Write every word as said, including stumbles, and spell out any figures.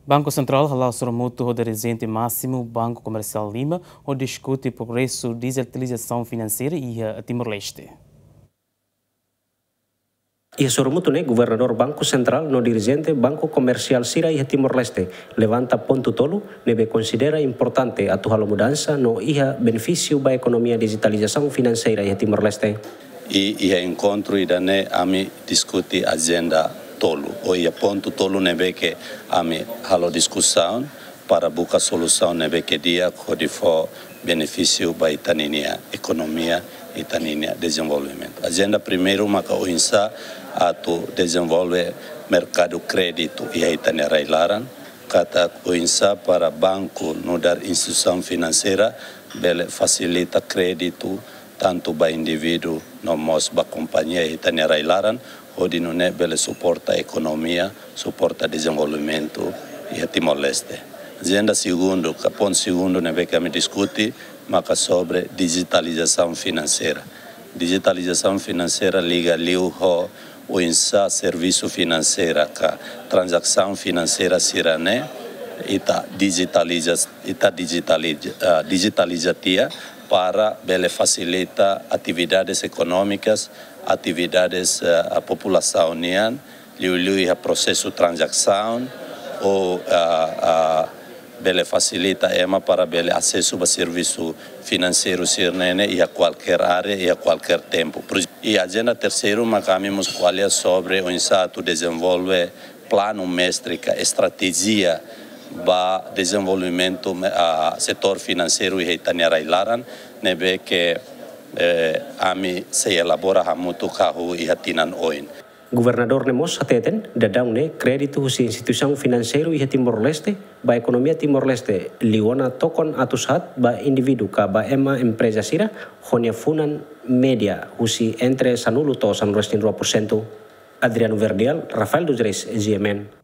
Banku Sentrál hala'o sorumutu ho dirijente másimu Banku Komersiál Lima hodi diskute progresu dijitalizasaun finanseira iha Timor-Leste. Iha sorumutu ne'e, Governadór Banku Sentrál no dirijente banku komersiál sira iha Timor-Leste levanta pontu tolu ne'ebé konsidera importante atu halo mudansa no iha benefísiu ba ekonomia dijitalizasaun finanseira iha Timor-Leste. I iha enkontru ida-ne'e ami diskute ajenda tolu, ou iha pontu tolu ne'ebé ke ami halo diskusaun para buka solusaun ne'ebé ke di'ak hodi fó benefísiu ba ita-nia ekonomia, ita-nia dezenvolvimentu. Ajenda primeiru maka oinsá atu dezenvolve merkadu kréditu iha ita-nia rai-laran, katak oinsá para banku nu'udar instituisaun finanseira bele fasilita kréditu tantu ba indivíduu no mós ba kompañia iha ita-nia rai-laran, hodi nune'e bele suporta ekonomia, suporta dezenvolvimentu iha Timor-Leste. Ajenda segundu, ka pontu segundu ne'ebé ke ami diskute, maka sobre dijitalizasaun finanseira. Dijitalizasaun finanseira liga liu ho oinsá servisu finanseira ka tranzasaun finanseira sira-ne'e ita dijitaliza, ita dijitaliza, ah, dijitaliza tiha para bele fasilita atividades ekonómikas, atividades, eh, populasaun nian, liuliu iha prosesu tranzasaun, ou, ah, ah, bele fasilita ema para bele asesu ba servisu finanseiru sira-ne'e iha kualkér área, iha kualkér tempu. Por ex-, i ajenda terseiru maka ami mós ko'alia sobre oinsá atu dezenvolve planu mestre ka estratéjia ba dezenvolvimentu, ah, setór finanseiru iha ita-nia rai-laran, ne'ebé ke, eh, ami sei elabora hamutuk hahú iha tinan oin. Governadór ne'e mós hateten, daudaun ne'e kréditu husi instituisaun finanseiru iha Timor-Leste ba ekonomia Timor-Leste liu ona tokon atus haat ba indivíduu ka ba ema empreza sira ho nia funan média husi entre sanulu to'o sanulu resin rua por sentu. Adriano Verdial, Rafael dos Reis, G M N.